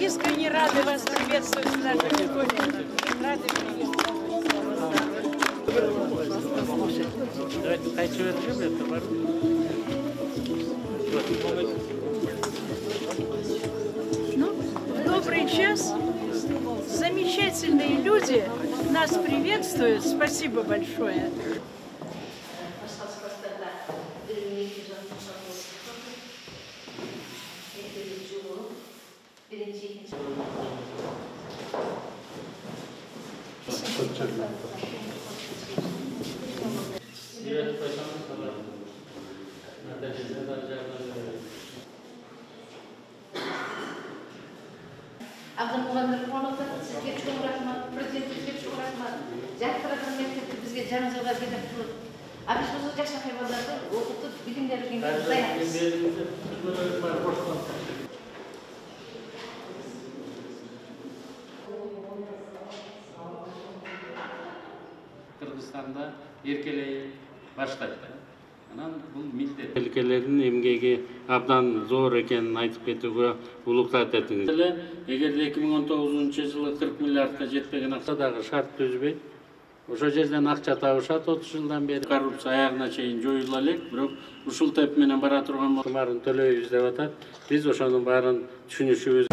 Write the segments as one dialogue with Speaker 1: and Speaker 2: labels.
Speaker 1: искренне рады вас приветствовать в нашей школе. Рады Добрый час. Замечательные люди нас приветствуют. Спасибо большое.
Speaker 2: Abdülmuğandır Kuanot'ta sizge çok rahmat, prezidentlikge çok rahmat. Jaktıratan mektepte bizge janızalar gelip turur. Abi biz bu yaşa hayvanlarda okutup bilimleri dayarız.
Speaker 3: Kırgızstanda erkeleyi başlaydı. Бул милдет. Өлкөлөрдүн эмгеги абдан зор экенин айтып кетүүгө улуктат этиңиз. Эгерде 2019-жылы 40 миллиардка жетпеген акча дагы шарт түзбөйт. Ошол жерден акча табышат 30 жылдан бери. Коррупция аягына чейин жоюла элек, бирок ушул теп менен бара турган баарын төлөйбүз деп атат. Биз ошонун баарын түшүнүшүбүз.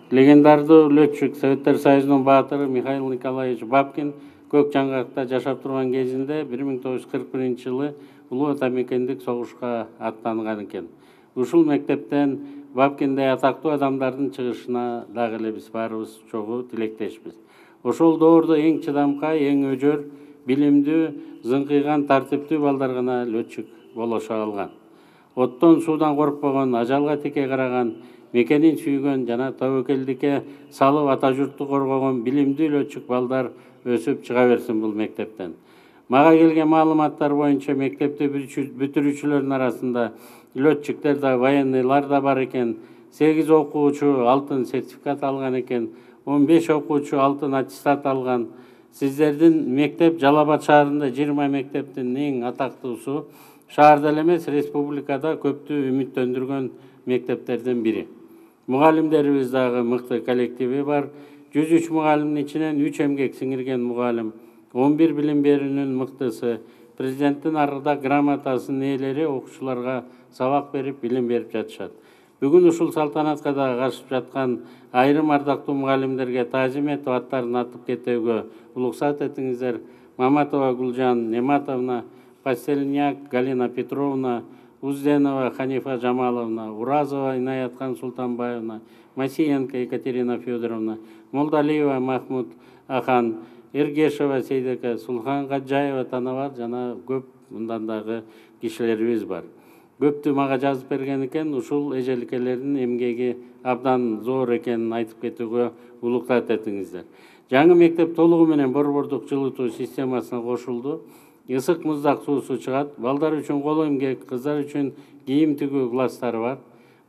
Speaker 3: Легендардуу летчик Советтер Союзунун баатыры Михаил Николаевич Бабкин көк жаңгакта жашап турган кезинде 1941-жылы улуу атамекендик согушка аттанган экен. Ушул мектептен Бабкиндей атактуу адамдардын чыгышына дагы эле биз баарыбыз чогуу тилектешпиз. Ошол доордо эң чыдамкай, эң өжөр, билимдүү, зыңкыйган, тартиптүү балдар гана летчик болошо алган. Оттон, суудан коркпогон, ажалга тике караган, мекенин сүйгөн жана тобокелдикке салып ата журтту коргогон билимдүү летчик балдар өсүп чыга берсин бул мектептен. Мага келген маалыматтар боюнча мектепти бүтүрүүчүлөрдүн арасында летчиктер да, военныйлар да бар экен. 8 окуучу алтын сертификат алган экен, 15 окуучу алтын аттестат алган. Сиздердин мектеп Жалал Абад шаарында 20 мектептин эң атактуусу, шаарда эле эмес, республикада көптү үмүттөндүргөн мектептердин бири. Мугалимдерибиз дагы мыкты коллективи бар. 103 мугалимдин ичинен 3 эмгек сиңирген мугалим, 11 билим берүүнүн мыктысы, президенттин арыда грамотасынын ээлери окуучуларга сабак берип, билим берип жатышат. Бүгүн ушул салтанатка да катышып жаткан айрым ардактуу мугалимдерге таазим этип аттарын атып кетүүгө улуксат этиңиздер. Маматова Гулжан Нематовна, Пастельняк Галина Петровна, Узденова Ханифа Жамаловна, Уразова Инаятхан Султанбаевна, Масиенко Екатерина Федоровна, Молдалиева Махмуд Ахан, Эргешева Сейдека, Сулхан Гаджаева Танавар жана көп мындан дагы кишилерибиз бар. Көптү мага жазып берген экен, ушул эжеликелердин эмгеги абдан зор экенин айтып кетүүгө улуктат этиңиздер. Жаңы мектеп толугу менен борбордук жылытуу системасына кошулду. Ысык муздак суусу чыгат. Балдар үчүн кол эмгек, кыздар үчүн кийим тигүү класстары бар.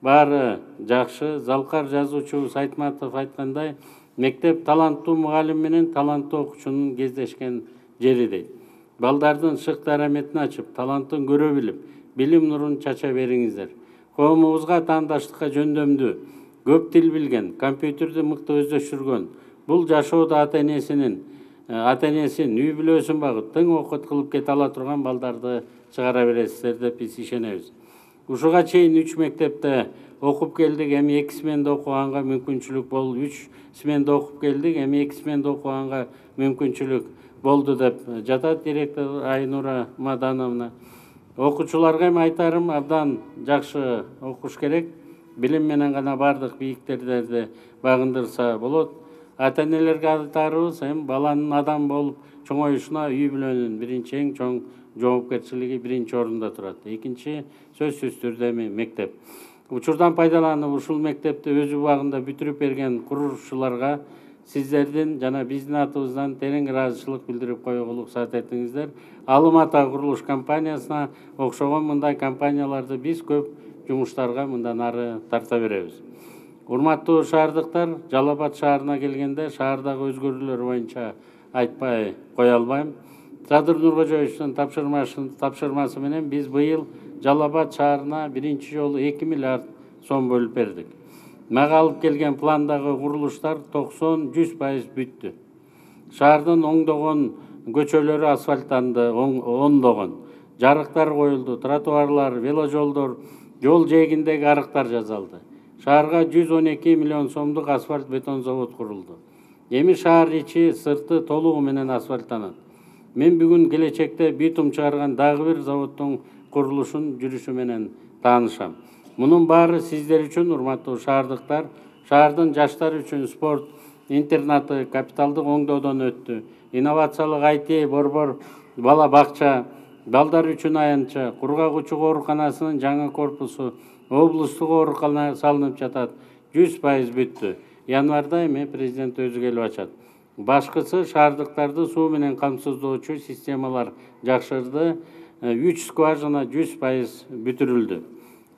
Speaker 3: Баары жакшы. Залкар жазуучубуз Айтматов айткандай, мектеп таланттуу мугалим менен таланттуу окуучунун кездешкен жери дейт. Балдардын шык дараметин ачып, талантын көрө билип, билим нурун чача бериңиздер. Коомубузга таандаштыкка жөндөмдүү, көп тил билген, компьютерди мыкты өздөштүргөн, бул жашоодо ата-энесин, үй бүлөсүн багып, тың окут кылып кете ала турган балдарды чыгара бересиздер деп биз ишенебиз. Ушуга чейин 3 мектепте окуп келдик, эми 2 сменде окуганга мүмкүнчүлүк болду. 3 сменде окуп келдик, эми 2 сменде окуганга мүмкүнчүлүк болду деп жатат директор Айнура Мадановна. Окуучуларга эми айтарым, абдан жакшы окуш керек. Билим менен гана бардык бийиктерди багындырса болот. Ата-энелерге айтарыбыз, баланын адам болуп чоңоюшуна үй бүлөнүн биринчи эң чоң жоопкерчилиги биринчи орунда турат. Экинчи сөзсүз түрдө мектеп. Учурдан пайдаланып ушул мектепти өз убагында бүтүрүп берген куруушуларга сиздердин жана биздин атыбыздан терең ыраазычылык билдирип коюуга уруксат этиңиздер. Алым ата курулуш компаниясына окшогон мындай компанияларды биз көп жумуштарга мындан ары тарта беребиз. Урматтуу шаардыктар, Жалал Абад шаарына келгенде шаардагы өзгөрүүлөр боюнча айтпай кое албайм. Садыр Нуркожоевичтин тапшырмасы менен биз быйыл Жалал Абад шаарына биринчи жолу 2 миллиард сом бөлүп бердик. Мага алып келген пландагы курулуштар 90–100% бүттү. Шаардын оңдогон көчөлөрү асфальттанды, ондогон. Жарыктар коюлду, тротуарлар, веложолдор, жол жээгиндеги арыктар жасалды. Шаарга 112 миллион сомдук асфальт бетон завод курулду. Эми шаар ичи сырты толугу менен асфальттанат. Мен бүгүн келечекте битум чыгарган дагы бир заводдун курулушун жүрүшү менен таанышам. Мунун баары сиздер үчүн, урматтуу шаардыктар, шаардын жаштары үчүн спорт интернаты капиталдык оңдоодон өттү. Инновациялык IT, борбор бала бакча, балдар үчүн аянтча, кургагучу ооруканасынын жаңы корпусу, облустук оорукана салынып жатат. 100% бүттү. Январда эми президент өзү келип ачат. Башкысы шаардыктарды суу менен камсыздоочу системалар жакшырды. 3 скважина 100% бүтүрүлдү.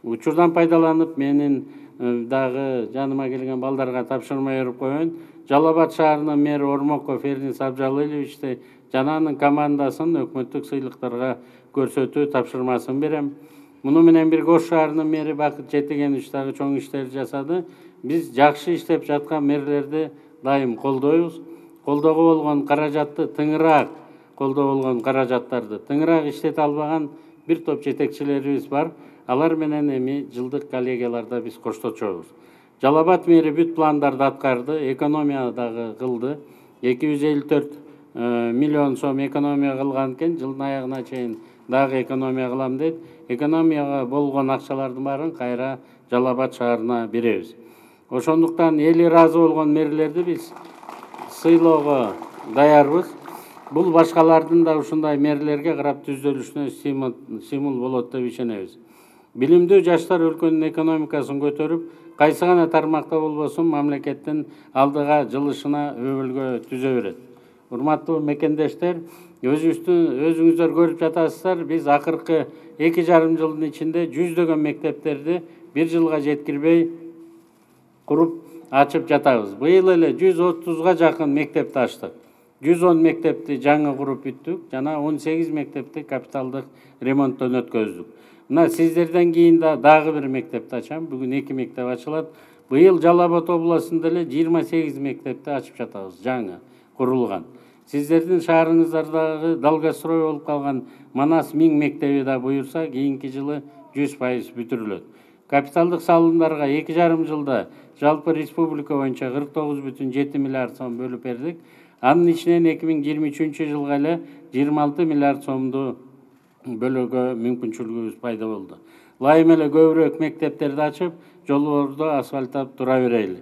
Speaker 3: Учурдан пайдаланып, менин дагы жаныма келген балдарга тапшырма берип коеюн. Жалал Абад шаарынын мэри Ормоков Эрнис Абжалыловичти жана анын командасын өкмөттүк сыйлыктарга көрсөтүү тапшырмасын берем. Муну менен бирге Ош шаарынын мэри Бакыт Жетигенович дагы чоң иштер жасады. Биз жакшы иштеп жаткан мэрлерди дайым колдойбуз. Колдоого болгон каражатты тыңыраак тыңыраак иштете албаган бир топ жетекчилерибиз бар. Алар менен эми жылдык коллегияларда биз коштошобуз. Жалал Абад мэри бүт пландарды аткарды, экономия дагы кылды. 254 миллион сом экономия кылган экен, жылдын аягына чейин дагы экономия кылам дейт. Экономияга болгон акчалардын баарын кайра Жалал Абад шаарына беребиз. Ошондуктан эли ыраазы болгон мэрлерди биз сыйлоого даярбыз. Бул башкалардын да ушундай мэрлерге карап түзөлүшүнө стимул болот деп ишенебиз. Билимдүү жаштар өлкөнүн экономикасын көтөрүп, кайсы гана тармакта болбосун мамлекеттин алдыга жылышына өбөлгө түзө берет. Урматтуу мекендештер, өзүңүздөр көрүп жатасыздар, биз акыркы 2,5 жылдын ичинде жүздөгөн мектептерди бир жылга жеткирбей куруп ачып жатабыз. Быйыл эле 130га жакын мектепти ачтык. 110 мектепти жаңы куруп бүттүк, жана 18 мектепти капиталдык ремонттон өткөздүк. Мына сиздерден кийин дагы бир мектепти ачам. Бүгүн 2 мектеп ачылат. Быйыл Жалал Абад областында эле 28 мектепти ачып жатабыз, жаңы курулган. Сиздердин шаарыңыздардагы долгострой болуп калган Манас 1000 мектеби да буюрса, кийинки жылы 100% бүтүрүлөт. Капиталдык салымдарга 2,5 жылда жалпы республика боюнча 49,7 миллиард сом бөлүп бердик. Анын ичинен 2023 жылга эле 26 миллиард сомду бөлүүгө мүмкүнчүлүгүбүз пайда болду. Ылайым эле көбүрөөк мектептерди ачып, жолдорду асфальттап тура берели.